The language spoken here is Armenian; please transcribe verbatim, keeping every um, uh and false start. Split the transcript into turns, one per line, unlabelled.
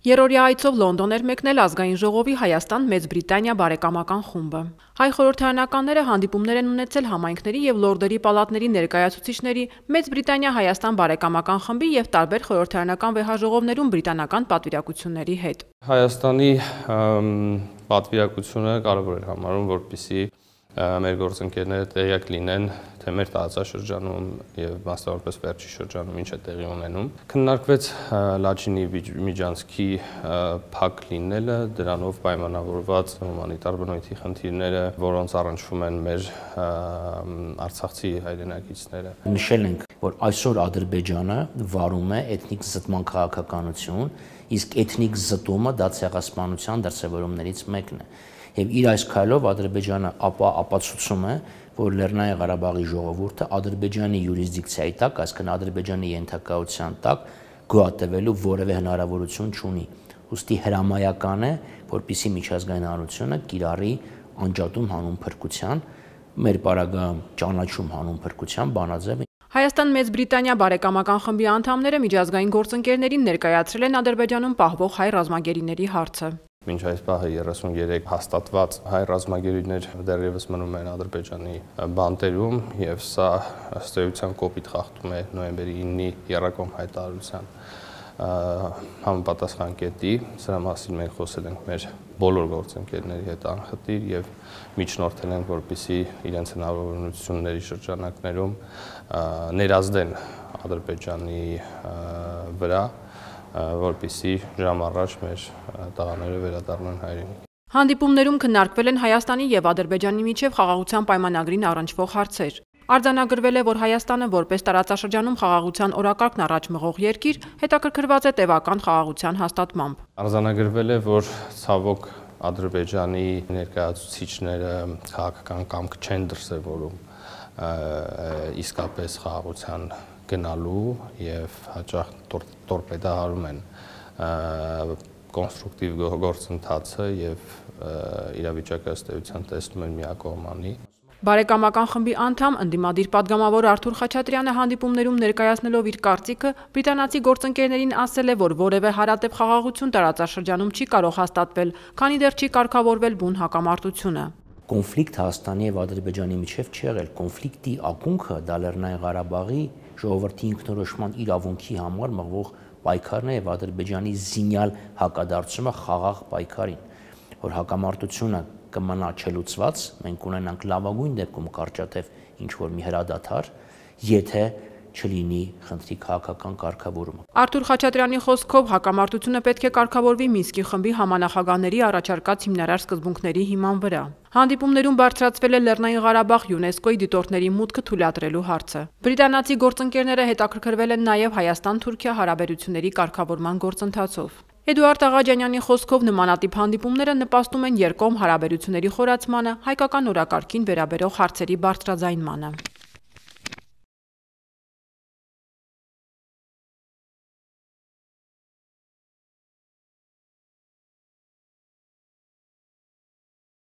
Երրորդյա այցով Լոնդոն էր մեկնել ազգային ժողովի Հայաստան-Մեծ Բրիտանիա բարեկամական խումբը։ Հայ խորհրդարանականները հանդիպումներ են ունեցել համայնքների եւ լորդերի պալատների ներկայացուցիչների, Մեծ Բրիտանիա-Հայաստան բարեկամական խմբի եւ տարբեր խորհրդարանական վեհաժողովներում բրիտանական պատվիրակությունների հետ։
Հայաստանի պատվիրակությունը կարևոր էր համարում, որպեսզի մեր գործընկերները տեղյակ լինեն, թե մեր տարածաշրջանում եւ մասնավորապես վերջի շրջանում ինչ է տեղի ունենում։ Քննարկվեց Լաչինի միջանցքի փակ լինելը, դրանով պայմանավորված հումանիտար բնույթի խնդիրները, որոնց առնչվում են մեր արցախցի հայրենակիցները։
Նշել ենք, որ այսօր Ադրբեջանը վարում է էթնիկ զտման քաղաքականություն, իսկ էթնիկ զտումը դա ցեղասպանության դրսևորումներից մեկն է։ Եվ իր այս քայլով Ադրբեջանը ապա ապացուցում է, որ Լեռնային Ղարաբաղի ժողովուրդը Ադրբեջանի յուրիսդիկցիայի տակ, այսինքն Ադրբեջանի ենթակայության տակ գոյատևելու որևէ հնարավորություն չունի։ Ուստի հրամայական է, որպեսզի միջազգային հանրությունը կիրառի անջատում հանուն փրկության, մեր պարագայում ճանաչում հանուն փրկության բանաձև։
Հայաստան-Մեծ Բրիտանիա բարեկամական խմբի անդամները միջազգային գործընկերներին ներկայացրել են Ադրբեջանում պահվող հայ ռազմագերիների հարցը։
Մինչ այս պահը երեսուններեք հաստատված հայ ռազմագերիներ դեռևս մնում են Ադրբեջանի բանտերում եւ սա ըստ էության կոպիտ խախտում է նոյեմբերի իննի եռակողմ հայտարարության համապատասխան կետի։ Սրա մասին մենք խոսել ենք մեր բոլոր գործընկերների հետ անխտիր եւ միջնորդել ենք, որպեսզի իրենց հնարավորությունների շրջանակներում ներազդեն Ադրբեջանի վրա, որպեսզի ժամ առաջ մեր տղաները վերադառնան հայրենիք։
Հանդիպումներում քննարկվել են Հայաստանի եւ Ադրբեջանի միջև խաղաղության պայմանագրին առնչվող հարցեր։ Արձանագրվել է, որ Հայաստանը որպես տարածաշրջանում խաղաղության օրակարգն առաջ մղող երկիր հետաքրքրված է տևական խաղաղության հաստատմամբ։
Արձանագրվել է, որ ցավոք Ադրբեջանի ներկայացուցիչները քաղաքական կամք չեն դրսևորում իսկապես խաղաղության գնալու եւ հաճախ տորպեդահարում են կոնստրուկտիվ գործընթացը եւ իրավիճակը ըստ էության տեսնում են միակողմանի։
Բարեկամական խմբի անդամ ընդդիմադիր падգամավոր Արթուր Խաչատրյանը հանդիպումներում ներկայացնելով իր կարծիքը բրիտանացի գործընկերներին ասել է, որ որևէ հարատև խաղաղություն տարածաշրջանում չի կարող հաստատվել, քանի դեռ չի կարգավորվել բուն հակամարտությունը։
Կոնֆլիկտ Հայաստանի եւ Ադրբեջանի միջև չի եղել, կոնֆլիկտի ակունքը դա Լեռնային Ղարաբաղի ժողովրդի ինքնորոշման իրավունքի համար մղվող պայքարն է եւ Ադրբեջանի զինյալ հակադարձումը խաղաղ պայքարին, որ հակամարտությունը կմնա չլուծված, մենք ունենանք լավագույն դեպքում կարճատև ինչ որ մի հրադադար, եթե չլինի խնդրի քաղաքական կարգավորումը։
Արթուր Խաչատրյանի խոսքով հակամարտությունը պետք է կարգավորվի Մինսկի խմբի համանախագահների առաջարկած հիմնարար սկզբունքների հիման վրա։ Հանդիպումներում բարձրացվել է Լեռնային Ղարաբաղ ՅՈՒՆԵՍԿՕ-ի դիտորդների մուտքը թույլատրելու հարցը։ Բրիտանացի գործընկերները հետաքրքրվել են նաև Հայաստան-Թուրքիա հարաբերությունների կարգավորման գործընթացով։ Էդուարդ Աղաջանյանի խոսքով նմանատիպ հանդիպումները նպաստում են երկկողմ հարաբերությունների խորացմանը, հայկական օրակարգին վերաբերող հարցերի բարձրաձայնմանը։